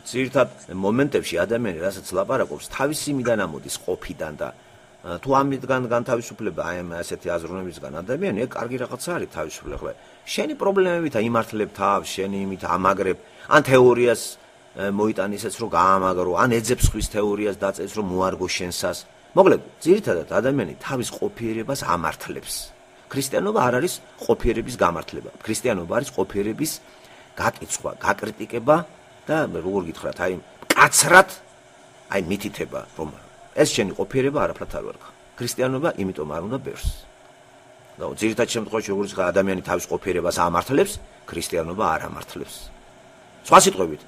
ძირითად მომენტებში ადამიანი რასაც ლაპარაკობს, თავისი მიდან ამოდის ყოფიდან და თუ ამიდან განთავისუფლება აი ამ ასეთი აზროვნებისგან ადამიანი, ეგ კარგი რაღაცა არის თავისუფლება. ხო, შენი პრობლემებით აიმართლებ თავს, შენი იმით ამაგრებ, ან თეორიას მოიტან ისეც რომ გაამაგრო, ან ეძებს ხვის თეორიას დაწეს რომ მოარგო შენსას. მოკლედ, ძირითადად ადამიანი თავის ყოფიერებას ამართლებს. ქრისტიანობა არ არის ყოფიერების გამართლება. ქრისტიანობა არის ყოფიერების გაკიცხვა, გაკრიტიკება და როგორ გითხრათ, აი მკაცრად აი მითითება, რომ ეს შენი ყოფიერება არაფრად არ ვარგა. ქრისტიანობა იმიტომ არ უნდა ბევრს. და ძირითად შემთხვევაში როგორც ადამიანი თავის ყოფიერებას ამართლებს, ქრისტიანობა არ ამართლებს. სხვა სიტყვებით,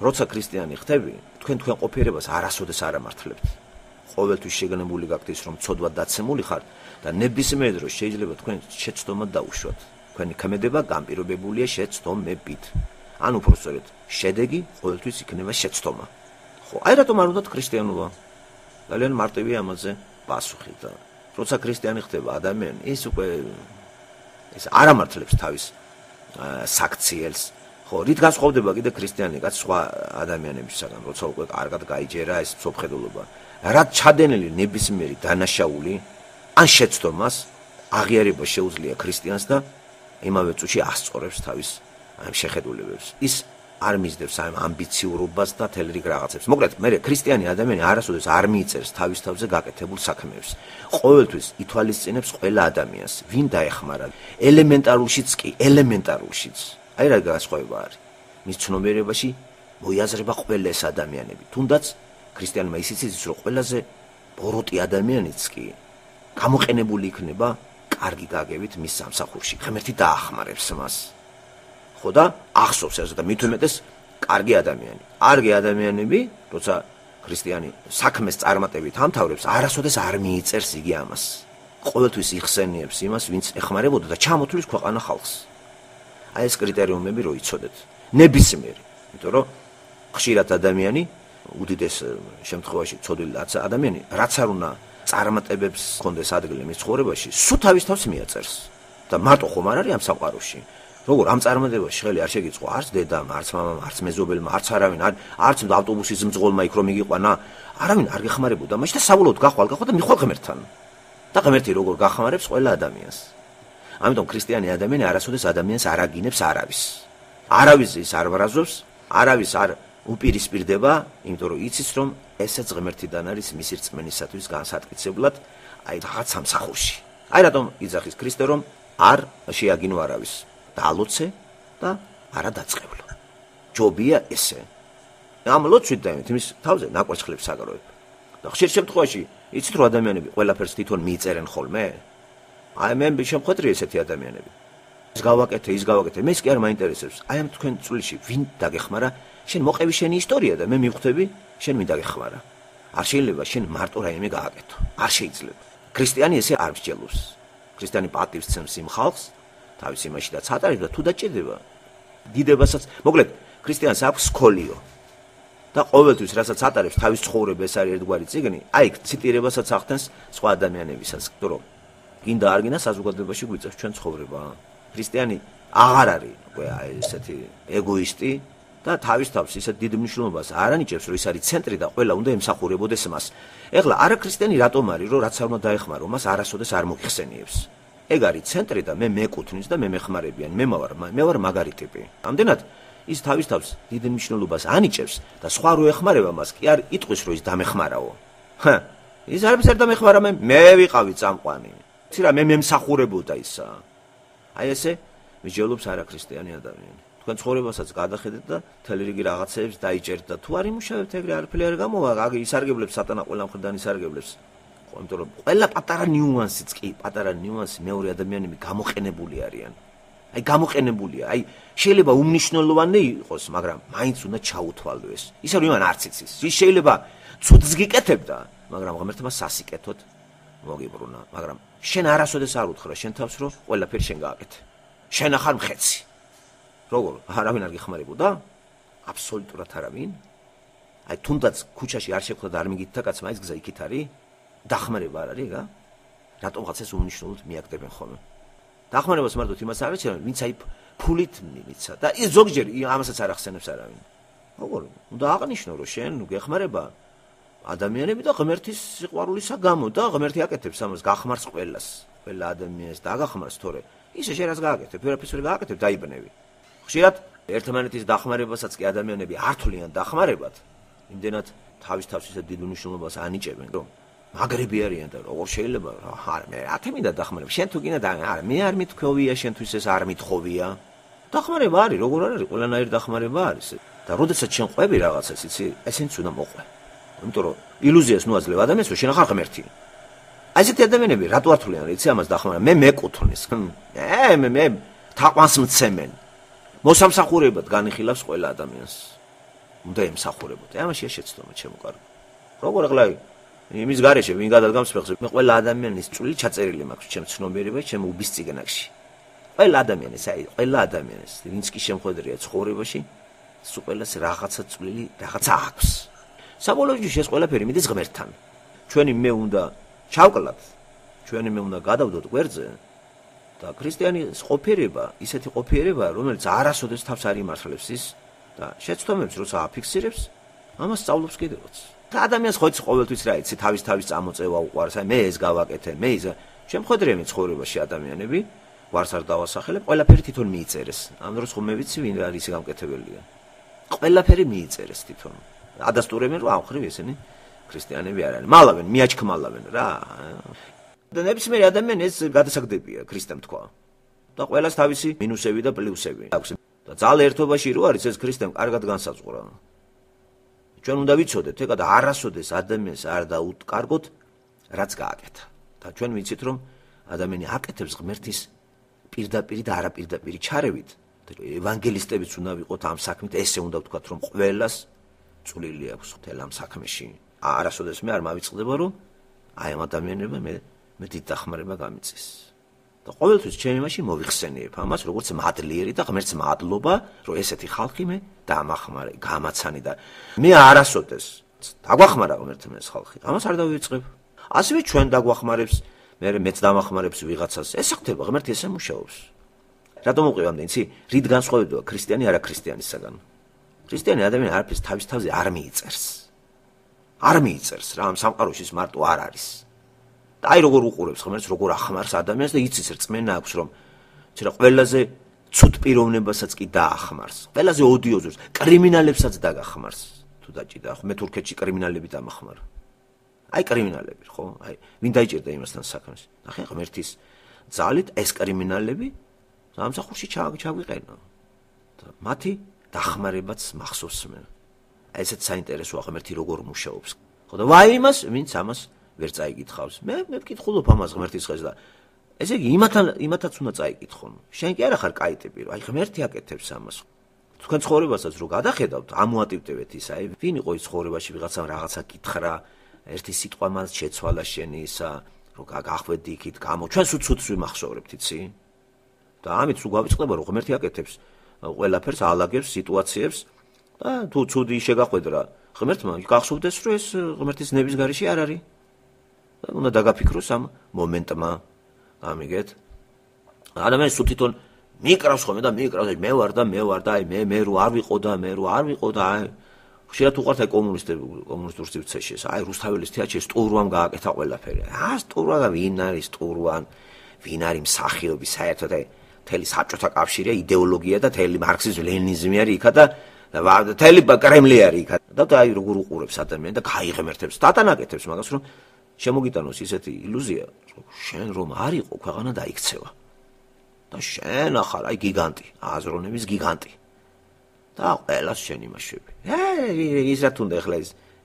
როცა ქრისტიანი ხდები, თქვენ ყოფიერებას არასოდეს არ ამართლებთ. ყოველთვის შეგნებული გაქვთ ის, რომ ცოდვად დაცემული ხართ და ნებისმიერ დროს შეიძლება თქვენ შეცდომად დაუშვათ. თქვენი ქმედება განპირობებულია შეცდომებით. ან უფრო სწორედ, შედეგი ყოველთვის იქნება შეცდომა. ხო, აი რატომ არ უნდათ ქრისტიანობა? ძალიან მარტივია ამაზე პასუხი და როცა ქრისტიანი ხდება ადამიანი, ის უკვე არ ამართლებს თავის საქციელს. ხო, რით განსხვავდება კიდე ქრისტიანი კაც სხვა ადამიანებისგან, როცა უკვე კარგად გაიჯერა ეს მსოფლმხედველობა. რაც ჩადენილი ნებისმიერი დანაშაული ან შეცდომას აღიარება შეუძლია ქრისტიანს და იმავე წუთში ასწორებს თავის შეხედულებებს. ის არ მისდევს ამ ამბიციურობას და თელრიგ რაღაცებს. მოკლედ, მე ქრისტიანი ადამიანი არასოდეს არ მიიწერს თავის თავზე გაკეთებულ საქმეებს. ყოველთვის ითვალისწინებს ყველა ადამიანს, ვინ დაეხმარა. ელემენტარულშიც კი, ელემენტარულშიც. აი რა განსხვავება არის. მის ცნობიერებაში მოიაზრება ყველა ეს ადამიანები. თუნდაც ქრისტიანმა ისიც იცის, რომ ყველაზე ბოროტი ადამიანიც კი გამოყენებული იქნება კარგი გაგებით მის სამსახურში. ღმერთი დაახმარებს მას. ხო და ახსოვს ეს და მით უმეტეს კარგი ადამიანი. კარგი ადამიანები, როცა ქრისტიანი საქმეს წარმატებით ამთავრებს, არასოდეს არ მიიწერს იგი ამას. ყოველთვის იხსენიებს იმას, ვინც ეხმარებოდა და ჩამოთვლის ქვეყანა ხალხს. აი ეს კრიტერიუმები რო იცოდეთ. ნებისმიერი, იმიტომ რომ ხშირად ადამიანი უდიდეს შემთხვევაში ცოდვილი ადამიანი, რაც არ უნდა წარმატებებს ჰქონდეს ადგილი მის ცხოვრებაში, სულ თავის თავს მიაწერს. და მარტო ხომ არ არის ამ სამყაროში. როგორ ამ წარმატებაში ხელი არ შეგიწყო არც დედამ, არც მამამ, არც მეზობელმა, არც არავინ, არც ავტობუსის მძღოლმა იქ რომ მიგიყვანა, არავინ არ გეხმარებოდა მაშინ და საბოლოოდ გახვალ და მიხვალ ღმერთთან. და ღმერთი როგორ გახმარებს ყველა ადამიანს. ამიტომ ქრისტიანი ადამიანი არასოდეს ადამიანს არ აგინებს არავის. არავის ის არ ბრაზობს, არავის არ უპირისპირდება, იმიტომ რომ იცის რომ ესეც ღმერთიდან არის მისი რწმენისათვის განსატკიცებლად, აი რაღაც სამსახურში. აი რატომ იძახის ქრისტე რომ არ შეაგინო არავის. დაალოცე და არა დაწყევლო. ჯობია ესე. ამ ლოცვით და იმის თავზე ნაკვერცხლებს აგროვებ. და ხშირ შემთხვევაში იცით რომ ადამიანები ყველაფერს თვითონ მიიწერენ ხოლმე? აი მე შემხვედრი ესეთი ადამიანები. ის გავაკეთე, ის გავაკეთე. მე ის კი არ მაინტერესებს. აი ამ თქვენ წვლილში ვინ დაგეხმარა? შენ მოყევი შენი ისტორია და მე მივხვდები შენ ვინ დაგეხმარა. არ შეიძლება შენ მარტო რაიმე გააკეთო. არ შეიძლება. ქრისტიანი ესე არ მსჯელობს. ქრისტიანი პატივს ცემს იმ ხალხს თავის იმაშიდაც ატარებს და თუ დაჭირდება დიდებასაც, მოკლედ, ქრისტიანს აქვს სკოლიო. და ყოველთვის რასაც ატარებს თავის ცხოვრება ეს არის ერთგვარი წიგნი, აი ციტირებასაც ახდენს სხვა ადამიანებისაც, რომ გინდა არ გინდა საზოგადოებაში გვიწევს ჩვენ ცხოვრება. ქრისტიანი აღარ არის უკვე აი ესეთი ეგოისტი და თავის თავს ისეთ დიდ მნიშვნელობას არ ანიჭებს, რომ ის არის ცენტრი და ყველა უნდა ემსახურებოდეს მას. ეხლა არა ქრისტიანი რატომ არის, რომ რაც არ უნდა დაეხმარო, მას არასოდეს არ მოიხსენიებს. ეგ არის ცენტრი და მე მეკუთვნის და მე მეხმარებიან, მე ვარ მაგარი ტიპი. ამდენად ის თავის თავს დიდ მნიშვნელობას ანიჭებს და სხვა რო ეხმარება მას კი არ იტყვის რომ ის დამეხმარაო. ის არის არ დამეხმარა მე ვიყავი წამყვანი. იცი რა მე მემსახურებოდა ისა. აი ესე მსჯელობს არა ქრისტიანი ადამიანი. თქვენ ცხოვრებასაც გადახედეთ და მთელი რიგი რაღაცეებს დაიჭერთ და თუ არ იმუშავებთ ეგრე არაფერი არ გამოვა, ისარგებლებს სატანა ყველა მხრიდან ისარგებლებს. იმიტომ რომ ყველა პატარა ნიუანსიც კი, პატარა ნიუანსი მეორე ადამიანები გამოყენებული არიან. აი გამოყენებულია. აი შეიძლება უმნიშვნელოვანე იყოს, მაგრამ მაინც უნდა ჩაუთვალო ეს. ისე რომ იმან არც იცის. ის შეიძლება ცუდს გიკეთებდა, მაგრამ ღმერთმა სასიკეთოდ მოგიბრუნა, მაგრამ შენ არასოდეს არ უთხრა შენ თავს რომ ყველაფერი შენ გააკეთე. შენ ახარ მხეცი. როგორ? არავინ არ გეხმარებოდა? აბსოლუტურად არავინ. აი თუნდაც ქუჩაში არ შეგხვდა და არ მიგითთა კაცმა ის გზა იქით არის? დახმარება არ არის, რა? რატომღაც ეს უმნიშვნელოდ მიაკდებენ ხოლმე. დახმარებას მარტო იმას არ ეჩვენენ, ვინც აი ფულით მიიცა და ის ზოგჯერ ამასაც არ ახსენებს არავინ. როგორ უნდა აღნიშნო რომ შენ გეხმარება ადამიანები და ღმერთის სიყვარულისა გამო და ღმერთი აკეთებს ამას გახმარს ყველას ყველა ადამიანს და აგახმარს თორე ისე შენ რაც გააკეთებ ვერაფერს ვერ გააკეთებ დაიბნევი ხშირად ერთმანეთის დახმარებასაც კი ადამიანები არ თვლიან დახმარებად იმდენად თავის ისეთ დიდ მნიშვნელობას ანიჭებენ რომ მაგრები არიან და როგორ შეიძლება არა მე ათი მინდა დახმარება შენ თუ გინდა არა მე არ მithქვია შენთვის ეს არ მithხოვია დახმარება არის როგორ არ არის ყველანაირი დახმარება არის და როდესაც შენ ყვები რაღაცას იცი ესენც უნდა მოყვე იმიტომ რომ ილუზიას ნუაძლევ ადამიანს რომ შენ ახარ ღმერთი აი ესეთი ადამიანები რატო არ თვლიან იცი ამას დახმარება მე მეკუთვნის მე თაყვანს მცემენ მოსამსახურებად განიხილავს ყველა ადამიანს უნდა ემსახურებოდ ამაშია შეცდომა ჩემო კარგი როგორ ახლა იმის გარეშე ვინ გადადგამს ფეხზე მე ყველა ადამიანის წვლილი ჩაწერილი მაქვს ჩემ ცნობიერებაში ჩემ უბის წიგნებში ყველა ადამიანის აი ყველა ადამიანის ვინც კი შემხედრია ცხოვრებაში სულ ყველას რაღაცა წვლილი რაღაცა აქვს საბოლოოში ეს ყველაფერი მიდის ღმერთთან ჩვენი მე უნდა ჩავკლათ ჩვენი მე უნდა გადავდოთ გვერდზე და ქრისტიანის ყოფიერება ისეთი ყოფიერება რომელიც არასოდეს თავს არ იმართლებს ის და შეცდომებს როცა აფიქსირებს ამას სწავლობს კიდევაც და ადამიანს ხო იცი ყოველთვის რა იცი თავის წამოწევა უყვარს აი მე ეს გავაკეთე მე ის შემხედრია მე ცხოვრებაში ადამიანები ვარს არ დავასახელებ ყველაფერი თვითონ მიიწერეს ამ დროს ხომ მე ვიცი ვინ არის გამკეთებელია ყველაფერი მიიწერეს თვითონ ადასტურებენ რომ ამხრივ ესენი ქრისტიანები არ არის მალავენ მიაჩქმალავენ რა და ნებისმიერი ადამიანი ეს გადასაგდებია ქრისტემ თქვა და ყველას თავისი მინუსები და პლუსები აქვს და ძალ ერთობაში რო არის ეს ქრისტემ კარგად განსაზღვრა ჩვენ უნდა ვიცოდეთ ეკა და არასოდეს ადამიანს არ დაუტკარგოთ რაც გააკეთა და ჩვენ ვიცით რომ ადამიანი აკეთებს ღმერთის პირდაპირ და არაპირდაპირი ჩარევით და ევანგელისტებიც უნდა ვიყოთ ამ საქმით ესე უნდა ვთქვათ რომ ყველას წვლილი აქვს მთელ ამ საქმეში არასოდეს მე არ მავიწყდება რომ აი ამ ადამიანებმა მე დიდ დახმარება გამიწეს და ყოველთვის ჩემი მაშინ მოვიხსენიებ ამას როგორც მადლიერი და ღმერთს მადლობა რომ ესეთი ხალხი მე დამახმარე გამაცანი და მე არასოდეს დაგვახმარა ღმერთმა ეს ხალხი ამას არ დავიწყებ ასევე ჩვენ დაგვახმარებს მეც დამახმარებს ვიღაცას ეს ხდება ღმერთი ესე მუშაობს რატომ მოყვევამდე იცი რით განსხვავდება ქრისტიანი არა ქრისტიანისაგან ქრისტიანი ადამიანი არაფერს თავის თავზე არ მიიწერს რა ამ სამყაროში ის მარტო არ არის და აი როგორ უყურებს ღმერთს როგორ ახმარს ადამიანს და იცის რწმენა აქვს რომ ცირა ყველაზე ცუდ პიროვნებასაც კი დაახმარს ყველაზე ოდიოზურს კრიმინალებსაც დაგახმარს თუ დაჭიდა ხო მე თურქეთში კრიმინალები დამახმარა აი კრიმინალები ხო აი ვინ დაიჭერდა იმასთან საქმეს ნახე ღმერთის ძალით ეს კრიმინალები სამსახურში ჩაგვიყენა და მათი დახმარებაც მახსოვს მე აი ესეც საინტერესოა ღმერთი როგორ მუშაობს ხო და ვაი იმას ვინც ამას ვერ წაიკითხავს მე ვკითხულობ ამას ღმერთის ხელს და ესე იგი იმათაც უნდა წაიკითხონ შენ კი არა ხარ კაი ტიპი რომ აი ღმერთი აკეთებს ამას თქვენ ცხოვრებასაც რო გადახედავთ ამოატივტევეთ ის აი ვინ იყო ის ცხოვრებაში ვიღაცამ რაღაცა კითხრა ერთი სიტყვა მას შეცვალა შენი ისა რომ გახვედი იქით გამო ჩვენ სუცუც ვიმახსოვრებთ იცი და ამით რო გავიწყდება რომ ღმერთი აკეთებს ყველაფერს ალაგებს სიტუაციებს და თუ ცუდი შეგახვედრა ღმერთმა გახსოვდეს რომ ეს ღმერთის ნების გარეშე არ არის და უნდა დაგაფიქროს ამ მომენტმა ამიგეთ ადამიანს სულ თვითონ მიკრავს ხოლმე და მიკრავს მე ვარ და აი მე რო არ ვიყო და აი ხშირად უყვართ აი კომუნისტურ სივრცეში აი რუსთაველის თეატრში სტურვამ გააკეთა ყველაფერი სტურვა და ვინ არის სტურვან ვინ არის მსახიობი საერთოდ აი მთელი საბჭოთა კავშირია იდეოლოგია და მთელი მარქსიზმი ლენინიზმი არის იქა და მთელი კრემლი არის იქა და აი როგორ უყურებს ადამიანი და გაიღმერთებს დატანაკეთებს მაგას რომ შემოგიტანოს ისეთი ილუზია რომ შენ რომ არ იყო ქვეყანა დაიქცევა და შენ ახალ აი გიგანტი აზროვნების გიგანტი და ყველას შენ იმაშვები ის რა თუნდა ახლა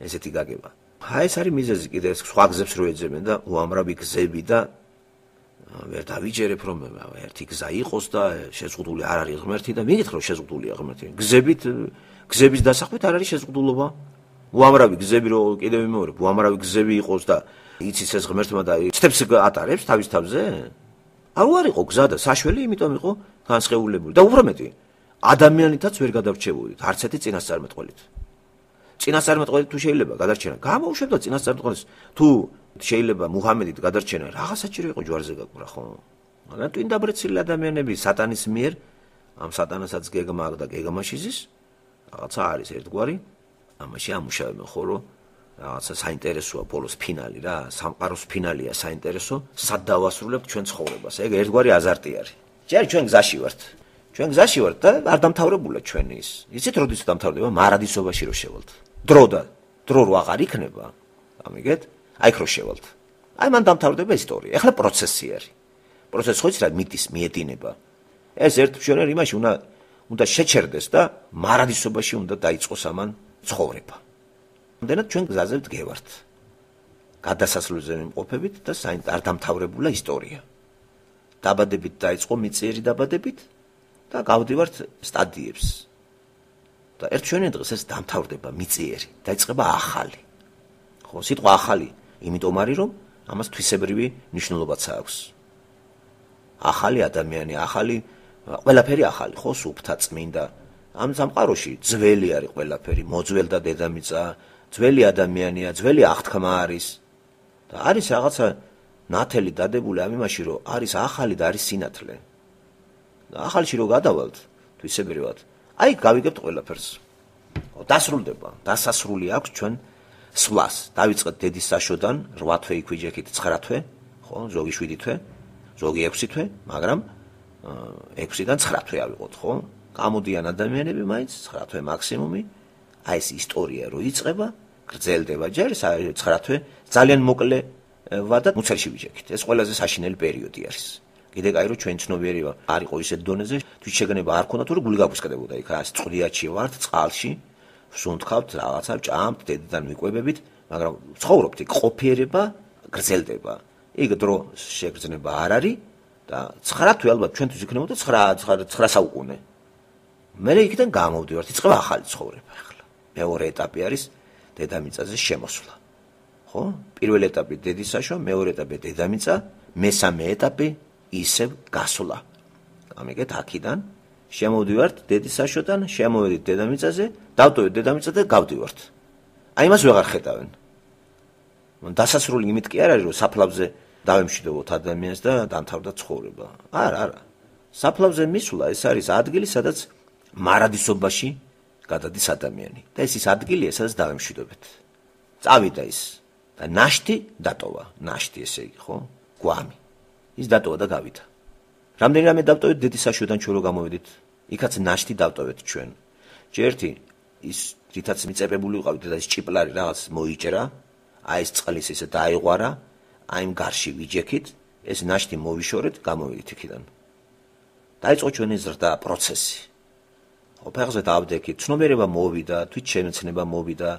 ესეთი გაგება აი ეს არის მიზეზი კიდე ეს სხვა გზებს რო ეძებენ და უამრავი გზები და ვერ დავიჯერებ რომ ერთი გზა იყოს და შეზღუდული არ არის ღმერთი და მიგითხრო შეზღუდულია ღმერთი გზების დასახვით არ არის შეზღუდულობა უამრავი გზები რო კიდევ ვიმეორებ უამრავი გზები იყოს და იცის ეს ღმერთმა და ცდებს ატარებს თავის თავზე არ იყო გზა და საშველი იმიტომ იყო განსხეულებული და უფრო მეტი ადამიანითაც ვერ გადარჩებოდით არც ერთი წინასწარმეტყველით წინასწარმეტყველით თუ შეიძლება გადარჩენა გამოუშვებდა წინასწარმეტყველის თუ შეიძლება მუჰამედით გადარჩენა რაღაც საჭირო იყო ჯვარზე გაკვრა ხო მაგრამ თუ ინდაბრეცილი ადამიანები სატანის მიერ ამ სატანასაც გეგმა და გეგმაშიზის რაღაცა არის ერთგვარი, ამაში ამუშავებენ ხო რომ რაღაცა საინტერესოა ბოლოს ფინალი რა, სამყაროს ფინალია საინტერესო, სად დავასრულებთ ჩვენ ცხოვრებას. ეგ ერთგვარი აზარტი არის. ჯერ ჩვენ გზაში ვართ. ჩვენ გზაში ვართ და არ დამთავრებულა ჩვენი ის. იცით როდის დამთავრდება? მარადისობაში რო შევალთ. დრო რო აღარ იქნება. ამიგეთ? აი ხო შევალთ. აი მან დამთავრდება ისტორია. ეხლა პროცესი არის. პროცესი ხო იცით რა მიტის მიედინება. ეს ერთ მშვენიერ იმაში უნდა შეჩერდეს და მარადისობაში უნდა დაიწყოს ამან ცხოვრება. ამდენად ჩვენ გზაზე ვდგევართ. გადასასვლელზე ვიმყოფებით და არ დამთავრებულა ისტორია. დაბადებით დაიწყო მიწიერი დაბადებით და გავდივართ სტადიებს. და ერთ ჩვენი დღეს ეს დამთავრდება მიწიერი, დაიწყება ახალი. ხო, სიტყვა ახალი, იმიტომ არის რომ ამას თვისებრივი მნიშვნელობაც აქვს. ახალი ადამიანი, ახალი ყველაფერი ახალი, ხო, სუფთა წმინდა. ამ სამყაროში ძველი არის ყველაფერი, მოძველდა დედამიწა, ძველი ადამიანია, ძველი აღთქმა არის. და არის რაღაცა ნათელი დადებული ამ იმაში, რომ არის ახალი და არის სინათლე. და ახალში რო გადავალთ, თვისებრივად, აი გავიგებთ ყველაფერს. დასრულდება, დასასრული აქვს ჩვენ სვლას. დავიწყეთ დედის საშოდან 8 თვე იქვიჯექით 9 თვე, ხო, ზოგი 7 თვე, ზოგი 6 თვე, მაგრამ 6-დან 9 თვე ავიღოთ, ხო? გამოდიან ადამიანები მაინც 9 თვე მაქსიმუმი. აი ეს ისტორია რო იწყება, გრძელდება ჯერ 9 თვე, ძალიან მოკლევა და მუცელში ვიჯექით. ეს ყველაზე საშინელი პერიოდი არის. კიდე კაი რომ ჩვენ ცნობიერი არ იყო ისეთ დონეზე, თვითშეგნება არ ქონდა თუ გული გაფუსკდებოდა იქ, რა წყდიაჩი ვართ, წყალში, ვსუნთქავთ რაღაცა, ჭამთ, დედიდან ვიყვებებით, მაგრამ ცხოვრობთ იქ, ყოფიერება გრძელდება. იქ დრო შეგრძნება არ არის და 9 თვე ალბათ ჩვენთვის იქნებოდა 9 საუკუნე. მე იქიდან გამოვდივართ, იწყება ახალი ცხოვრება ახლა. მეორე ეტაპი არის დედამიწაზე შემოსვლა. ხო? პირველი ეტაპი დედის საშო, მეორე ეტაპი დედამიწა, მესამე ეტაპი ისევ გასვლა. ამიგეთ აქიდან შემოვდივართ დედის საშოდან, შემოვედით დედამიწაზე, დავტოვეთ დედამიწა და გავდივართ. აი მას ვეღარ ხედავენ. დასასრული იმით კი არ არის რომ საფლავზე დავემშვიდობოთ ადამიანს და დამთავრდა ცხოვრება. არა. საფლავზე მისვლა ეს არის ადგილი, სადაც მარადისობაში გადადის ადამიანი. და ეს ის ადგილია, სადაც დავემშვიდობეთ. წავიდა ის და ნაშთი დატოვა, ნაშთი ესე იგი, ხო? გვამი. ის დატოვა და გავიდა. რამდენი დავტოვეთ დედის საშოდან ჩვენ რო გამოვედით? იქაც ნაშთი დავტოვეთ ჩვენ. ჯერთი ის რითაც მიწებებული ვიყავით და ის ჭიპლარი რაღაც მოიჭრა, აი ეს წყლის ესე დაიღვარა, აი იმ გარში ვიჯექით, ეს ნაშთი მოვიშორეთ, გამოვედით იქიდან. დაიწყო ჩვენი ზრდა პროცესი. ფეხზე დავდექით, ცნობიერება მოვიდა, თვითშემეცნება მოვიდა,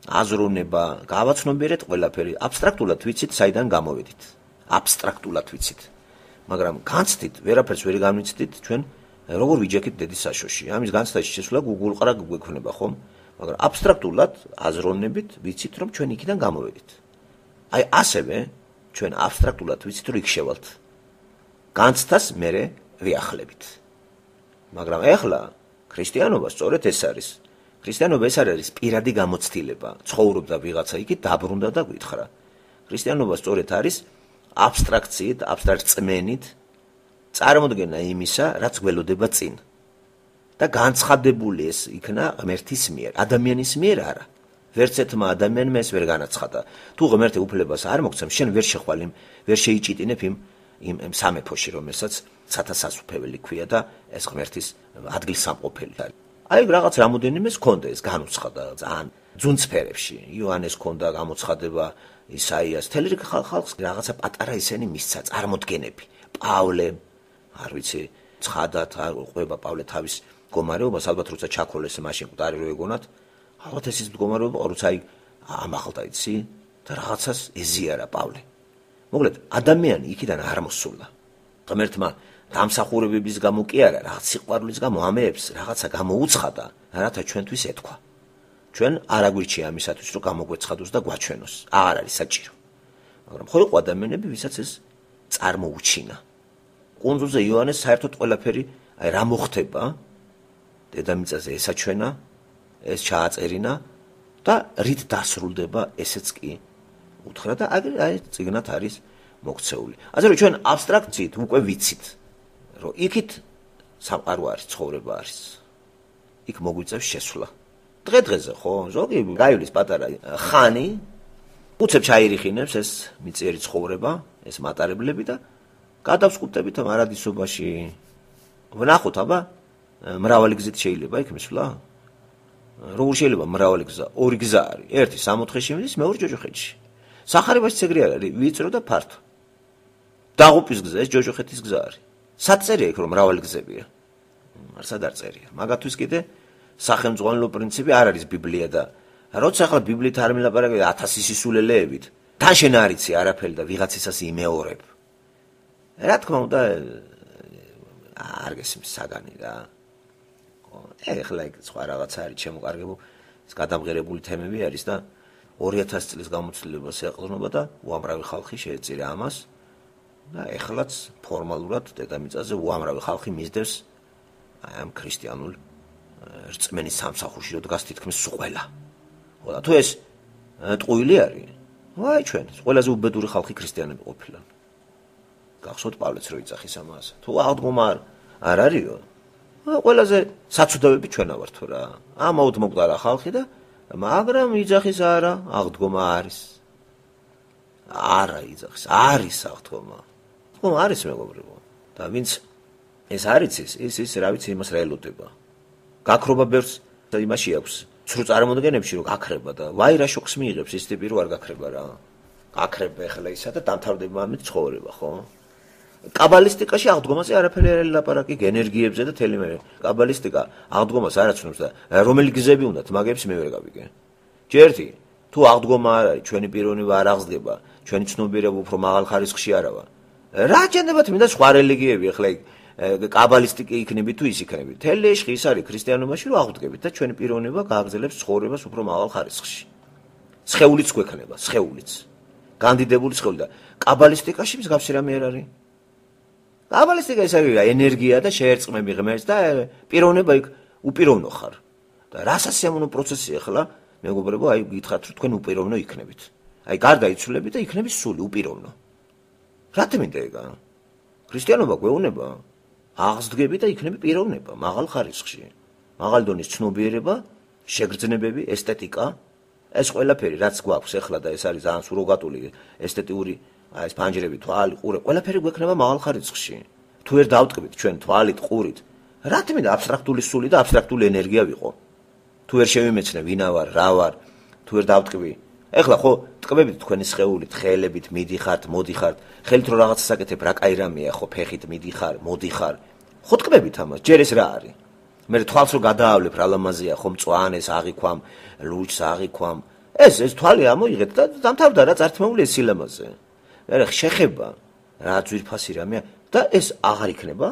აზროვნება, გავაცნობიერეთ ყველაფერი, აბსტრაქტულად ვიცით, საიდან გამოვედით. აბსტრაქტულად ვიცით. მაგრამ განცდით, ვერაფერს ვერ განვიცდით ჩვენ როგორ ვიჯექით დედის საშოში. ამის განცდაში შესვლა გუგულყრა გვექნება ხომ? მაგრამ აბსტრაქტულად აზროვნებით ვიცით, რომ ჩვენ იქიდან გამოვედით. აი ასევე ჩვენ აბსტრაქტულად ვიცით, რომ იქ შევალთ. განცდას მერე ვიახლებით. მაგრამ ეხლა ქრისტიანობა სწორედ ეს არის. ქრისტიანობა ეს არის პირადი გამოცდილება. ცხოვრობდა ვიღაცა იქით, დაბრუნდა და გვითხრა. ქრისტიანობა სწორედ არის აბსტრაქციით, აბსტრაქტ წმენით წარმოდგენა იმისა, რაც გველოდება წინ. და განცხადებული ეს იქნა ღმერთის მიერ, ადამიანის მიერ არა. ვერც ერთმა ადამიანმა ეს ვერ განაცხადა. თუ ღმერთი უფლებას არ მოგცემს, შენ ვერ შეხვალ ვერ შეიჭიტინებ იმ სამეფოში, რომელსაც ცათასასუფეველი ქვია და ეს ღმერთის ადგილსამყოფელი არის. აი რაღაც რამოდენიმე ჰქონდა ეს განუცხადა ძალიან ძუნწფერებში. იოანეს ჰქონდა გამოცხადება, ისაიას, თელი ხალხს რაღაცა პატარა ისენი მისცა წარმოდგენები. პავლე, არ ვიცი, ცხადათ ყვება პავლე თავის მდგომარეობას, ალბათ როცა ჩაქოლეს მაშინ მკვდარი რო ეგონათ, ალბათ ეს ის მდგომარეობა, როცა აი ამაღლდა იცი და რაღაცას ეზიარა პავლე. მოკლედ, ადამიანი იქიდან არ მოსულა. ღმერთმა დამსახურებების გამო კი არა, რაღაც სიყვარულის გამო ამეებს რაღაცა გამოუცხადა, რათა ჩვენთვის ეთქვა. ჩვენ არ აგვირჩია ამისათვის, რომ გამოგვეცხადოს და გვაჩვენოს. აღარ არის საჭირო. მაგრამ ხო იყო ადამიანები, ვისაც ეს წარმოუჩინა. კუნძულზე იოანეს საერთოდ ყველაფერი, აი რა მოხდება, დედამიწაზე ესაჩვენა, ეს ჩააწერინა და რით დასრულდება ესეც კი უთხრა და აი წიგნად არის მოქცეული. ასე რომ ჩვენ აბსტრაქციით უკვე ვიცით, რომ იქით სამყარო არის, ცხოვრება არის. იქ მოგვიწევს შესვლა. დღე-დღეზე ხო, ზოგი გაივლის პატარა ხანი, უცებ ჩაირიხინებს ეს მიწიერი ცხოვრება, ეს მატარებლები და გადავსკუტებით ამ არადისობაში. ვნახოთ, აბა, მრავალი გზით შეიძლება იქ მისვლა? როგორ შეიძლება მრავალი გზა? ორი გზა არის. ერთი 64-ში მიდის, მეორე ჯოჯოხეთში. სახარებაშიც ეგრე არ არის, ვიწრო და ფართო. დაღუპვის გზა, ეს ჯოჯოხეთის გზა არის. სად წერია იქ რომ მრავალი გზებია? არცად არ წერია. მაგათთვის კიდე სახელმძღვანელო პრინციპი არ არის ბიბლია და როცა ახლა ბიბლიით არ მილაპარაკები 1000 სისულელეებით, თან შენ არ იცი არაფერი და ვიღაცისას იმეორებ. რა თქმა უნდა არ გესმის საგანი რა. ეხლა იქ სხვა რაღაცა არის შემოკარგებულ, ეს გადამღერებული თემები არის და 2000 წლის გამოცდილებას ეყრდნობა და უამრავი ხალხი შეეწირა ამას და ეხლაც ფორმალურად დედამიწაზე უამრავი ხალხი მისდევს ამ ქრისტიანულ რწმენის სამსახურში, რომ დგას თითქმის ყველა. ხო და თუ ეს ტყუილი არის, ვაი ჩვენ, ყველაზე უბედური ხალხი ქრისტიანები ყოფილან. გახსოვთ პავლეც რო იცახის ამას. თუ აღდგომა არ არისო, ყველაზე საცუდავები ჩვენა ვართ რა. ამაოდ მოკვდარა ხალხი და მაგრამ იძახის არა, აღდგომა არის. არა იძახის, არის აღდგომა. ხო, არის მეგობრებო. და ვინც ეს არ იცის, ის რა ვიცი იმას რა ელოდება. გაქრობა ბევრს იმაში აქვს. ცრუ წარმოდგენებში რომ გაქრება და ვაი რა შოკს მიიღებს ის ტიპი რო არ გაქრება რა. გაქრება ახლა ისა და დამთავრდება ამით ცხოვრება, ხო? კაბალისტიკაში აღდგომაზე არაფერი არ ელაპარაკი, ენერგიებზე და თელი მე. კაბალისტიკა აღდგომას არ აცნობს და რომელი გზები უნდათ, მაგებს მე ვერ გავიგე. ჯერთი, თუ აღდგომა არ არის, ჩვენი პიროვნება არ აღზრდება, ჩვენი ცნობიერება უფრო მაღალ ხარისხში არავა. რა ჯენდებათ მინდა სხვა რელიგიები ახლა კაბალისტიკი იქნები თუ ის იქნები. თელი ეშხი ის არის ქრისტიანობაში რომ აღდგებით და ჩვენი პიროვნება გააგრძელებს ცხოვრებას უფრო მაღალ ხარისხში. სხეულიც გვექნება, სხეულიც. განდიდებული სხეული და კაბალისტიკაში მსგავსი რამე არ არის. კაბალისტიკა ის არის ენერგია და შეერწყმები ღმერთს და პიროვნება იქ უპიროვნო ხარ. და რასაც სამონო პროცესი ახლა მეგობრებო, აი გითხრათ რომ თქვენ უპიროვნო იქნებით. აი გარდაიცვლებით და იქნები სული უპიროვნო. რა თქმა უნდა, ქრისტიანობა გვეუბნება აღზრდები და იქნები პიროვნება მაღალ ხარისხში. მაღალ დონის ცნობიერება, შეგრძნებები, ესთეტიკა, ეს ყველაფერი რაც გვაქვს ახლა და ეს არის ძალიან სუროგატული ესთეტიური ეს ფანჯრები, თვალი, ყურე, ყველაფერი გვექნება მაღალ ხარისხში. თუ ვერ დავტკბით ჩვენ თვალით, ყურით, რა თქმა უნდა აბსტრაქტული სული და აბსტრაქტული ენერგია ვიყო. თუ ვერ შევიმეცნე ვინა ვარ, რა ვარ, თუ ვერ დავტკბი. ეხლა ხო ტკბებით თქვენი სხეულით, ხელებით მიდიხართ, მოდიხართ, ხელით რო რაღაცას აკეთებ, რა კაი რამეა, ხო ფეხით მიდიხარ, მოდიხარ. ხო ტკბებით ამას, ჯერ ეს რა არის? მე თვალს რო გადაავლებ, რა ლამაზია, ხო მწვანეს აღიქვამ, ლუჩს აღიქვამ. ეს თვალი ამოიღეთ და დამთავრდა რა წართმეული ეს სილამაზე. მე შეხება რა ძვირფასი რამეა და ეს აღარ იქნება?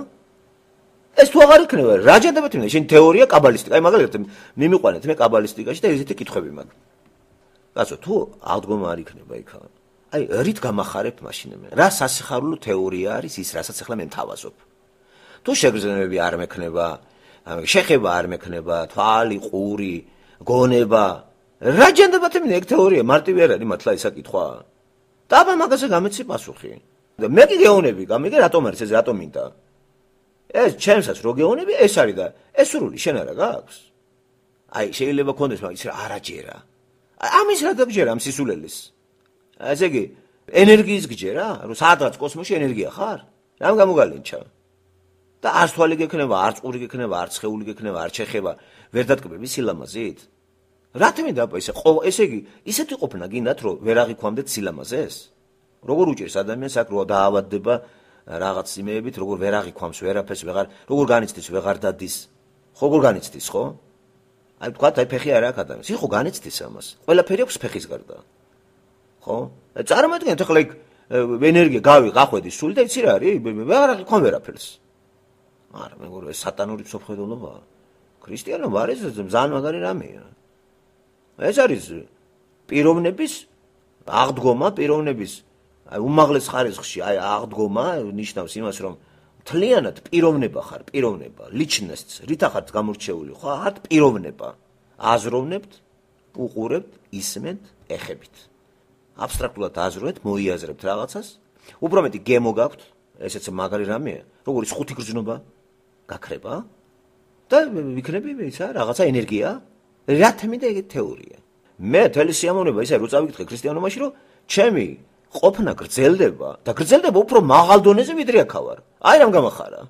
ეს თუ აღარ იქნება, რა ჯანდებათ მინდა? შენ თეორია კაბალისტიკა, აი მაგალითად მიმიყვანეთ მე კაბალისტიკაში და ესეთი კითხვები მაქვს. კაცო, თუ აღდგომა არ იქნება იქ, აი რით გამახარებ მაშინ მე? რა სასიხარულო თეორია არის ის, რასაც ახლა მე მთავაზობ? თუ შეგრძნებები არ მექნება, შეხება არ მექნება, თვალი, ყური, გონება, რა ჯანდებათ მინდა ეგ თეორია მარტივი არ არის მართლა ისა კითხვა? და აბა მაგაზე გამეცი პასუხი. და მე კი გეონები, გამიგე რატომ არის ეს, რატომ მინდა? ეს ჩემსაც რო გეონები, ეს არის და ეს სრული შენ არა გაქვს? აი შეიძლება კონდეს მაგის რა არაჯერა. ამის რა დაგჯერა ამ სისულელის? ესე იგი ენერგიის გჯერა, რომ სადღაც კოსმოსში ენერგია ხარ? რამ გამოგალინჩა? და არც თვალი გექნება, არც ყური გექნება, არც სხეული გექნება, არც შეხება, ვერ დატკბები სილამაზით? რა თქმა უნდა, ესე იგი, ისეთი ყოფნა გინდათ, რომ ვერ აღიქვამდეთ სილამაზეს? როგორ უჭირს ადამიანს აქ რო დაავადდება რაღაც იმეებით, როგორ ვერ აღიქვამს ვერაფერს, როგორ განიცდის, ვეღარ დადის. ხო, როგორ განიცდის, ხო? აი თქვა, აი ფეხი არ აქვს ადამიანს. ხო, განიცდის ამას. ყველაფერი აქვს ფეხის გარდა. ხო? წარმოიდგინეთ, ახლა იქ ენერგია გახვედის სული და იცი რა არის? ვეღარ აღიქვამ ვერაფერს. არა, მეგობრებო, ეს სატანური მსოფლმხედველობაა. ქრისტიანობა არის ძალიან მაგარი რამეა. ეს არის პიროვნების აღდგომა, პიროვნების აი უმაღლეს ხარისხში, აი აღდგომა ნიშნავს იმას, რომ მთლიანად პიროვნება ხარ, პიროვნება, lichnost, რითა ხართ გამორჩეული, ხო, ხართ პიროვნება. აზროვნებთ, უყურებთ, ისმენთ, ეხებით. აბსტრაქტულად აზროვნებთ, მოიაზრებთ რაღაცას, უფრო მეტი გემო გაქვთ, ესეც მაგარი რამეა, როგორიც ხუთი გრძნობა გაქრება და ვიქნები ისა რაღაცა ენერგია, რა თემი და ეგეთი თეორია. მე თელი სიამოვნება ისე რო წავიკითხე ქრისტიანობაში, რომ ჩემი ყოფნა გრძელდება და გრძელდება უფრო მაღალ დონეზე ვიდრე აქ ვარ. აი რამ გამახარა.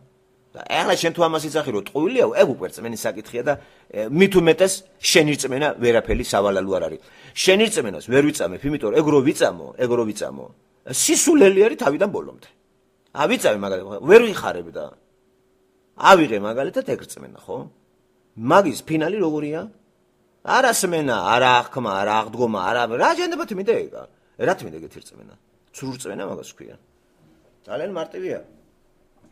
და ახლა შენ თუ ამას იცახი რომ ტყუილია, ეგ უკვე რწმენის საკითხია და მით უმეტეს შენი რწმენა ვერაფერი სავალალო არ არის. შენი რწმენას ვერ ვიწამებ, იმიტომ რომ ეგ რო ვიწამო. სისულელი არის თავიდან ბოლომდე. ავიწავე მაგალითად, ვერ ვიხარებ და ავიღე მაგალითად ეგ რწმენა, ხო? მაგის ფინალი როგორია? არა სმენა, არა აღქმა, არა აღდგომა, არა რა შეიძლება თმიდა ეგა. რა თმიდა ეგეთი რწმენა? ცრუ რწმენა მაგას ქვია. ძალიან მარტივია.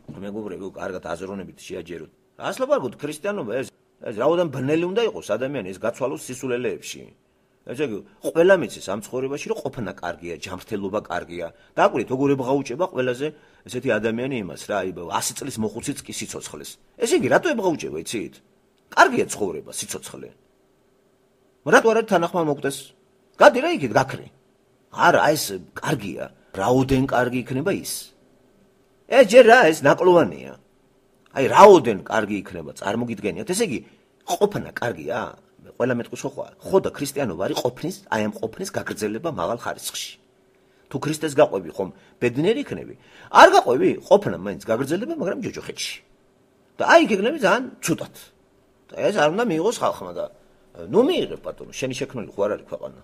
მეგობრებო, კარგად აზროვნებით შეაჯეროთ. ასლობა გქ ქრისტიანობა ეს რაოდენ ბნელი უნდა იყოს ადამიანი ეს გაცვალოს სისულელეებში. ესე იგი, ყველა მიცის ამ ცხოვრებაში რომ ყოფნა კარგია, ჯანმრთელობა კარგია. დააკვირდით, როგორ ებღაუჭება ყველაზე ესეთი ადამიანი იმას რა, აი 100 წლის მოხუციც კი სიცოცხლეს. ესე იგი, რატო ებღაუჭება, იცით? კარგია ცხოვრება, სიცოცხლე. რატო არ არის თანახმა მოგდეს? გადი რა იქით, გაქრე. არა, ეს კარგია. რაოდენ კარგი იქნება ის. ეს ჯერ რა, ეს ნაკლოვანია. აი, რაოდენ კარგი იქნება, წარმოგიდგენიათ. ესე იგი, ყოფნა კარგია? ყველა მეტყვის ხო და ქრისტიანობა არის ყოფნის, აი ამ ყოფნის გაგრძელება მაღალ ხარისხში. თუ ქრისტეს გაყვები ხომ, ბედნიერი იქნები. არ გაყვები, ყოფნა მაინც გაგრძელება, მაგრამ ჯოჯოხეთში. და აი გეგნები ძალიან ცუდად. და ეს არ უნდა მიიღოს ხალხმა და ნუ მიიღებ ბატონო, შენი შექმნილი ხო არ არის ქვეყანა.